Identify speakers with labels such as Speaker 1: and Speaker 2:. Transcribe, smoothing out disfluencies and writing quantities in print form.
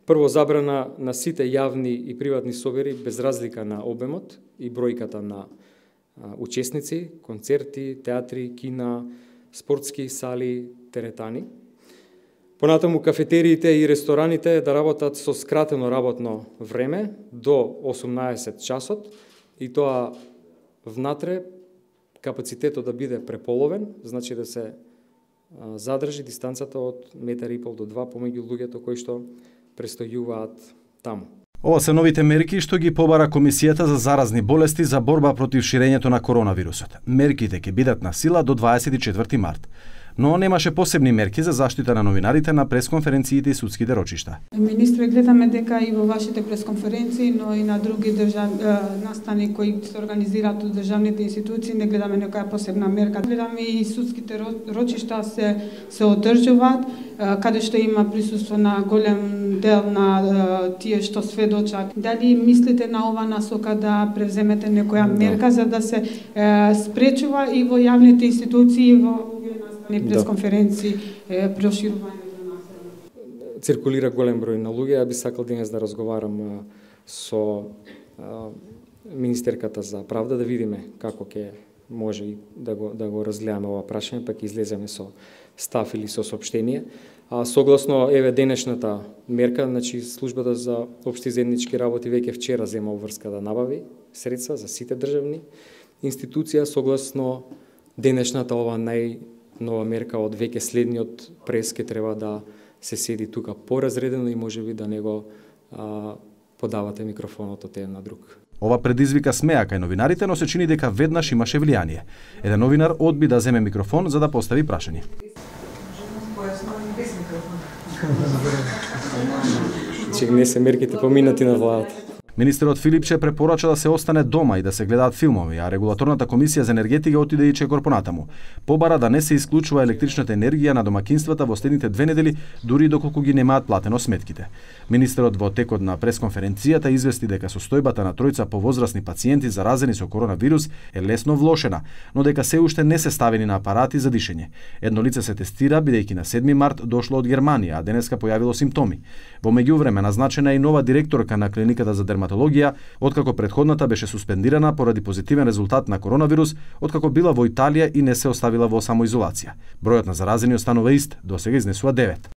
Speaker 1: Прво, забрана на сите јавни и приватни собери без разлика на обемот и бројката на учесници, концерти, театри, кина, спортски сали, теретани. Понатаму кафетериите и рестораните да работат со скратено работно време до 18 часот и тоа внатре капацитетот да биде преполовен, значи да се задржи дистанцата од 1,5 метри до 2 помеѓу луѓето кои што престојуваат таму.
Speaker 2: Ова се новите мерки што ги побара Комисијата за заразни болести за борба против ширењето на коронавирусот. Мерките ќе бидат на сила до 24 март. Но немаше посебни мерки за заштита на новинарите на пресконференциите и судските рочишта.
Speaker 3: Министре, гледаме дека и во вашите пресконференции, но и на други настани кои се организираат од државните институции, не гледаме некоја посебна мерка. Гледаме и судските рочишта се одржуваат, каде што има присуство на голем дел на тие што сведочат. Дали мислите на ова насока да превземете некоја мерка за да се спречува и во јавните институции и во пресконференции проширувањето на населението?
Speaker 1: Циркулира голем број на луѓе, ја би сакал денес да разговарам со министерката за правда да видиме како ќе може да го разгледаме ова прашање, па ќе излеземе со став или со соопштение. Согласно денешната мерка, значи службата за општи заеднички работи веќе вчера зема обврска да набави средства за сите државни институции, согласно денешната ова нова мерка од веќе следниот прес ке треба да се седи тука поразредено и можеби да не го подавате микрофонот од еден на друг.
Speaker 2: Ова предизвика смеа кај новинарите, но се чини дека веднаш имаше влијание. Еден новинар одби да земе микрофон за да постави прашање.
Speaker 1: Че не се мерките поминати на владата.
Speaker 2: Министерот Филипче препорача да се остане дома и да се гледаат филмови, а регулаторната комисија за енергетика отиде и чекор понатаму. Побара да не се исклучува електричната енергија на домакинствата во следните 2 недели, дури доколку ги немаат платено сметките. Министерот во текот на пресконференцијата извести дека состојбата на тројца повозрасни пациенти заразени со коронавирус е лесно влошена, но дека се уште не се ставени на апарати за дишење. Едно лице се тестира бидејќи на 7 март дошло од Германија, а денеска појавило симптоми. Во меѓувреме назначена е и нова директорка на клиниката за дерматологија, откако претходната беше суспендирана поради позитивен резултат на коронавирус, откако била во Италија и не се оставила во самоизолација. Бројот на заразени останува ист, досега изнесува 9.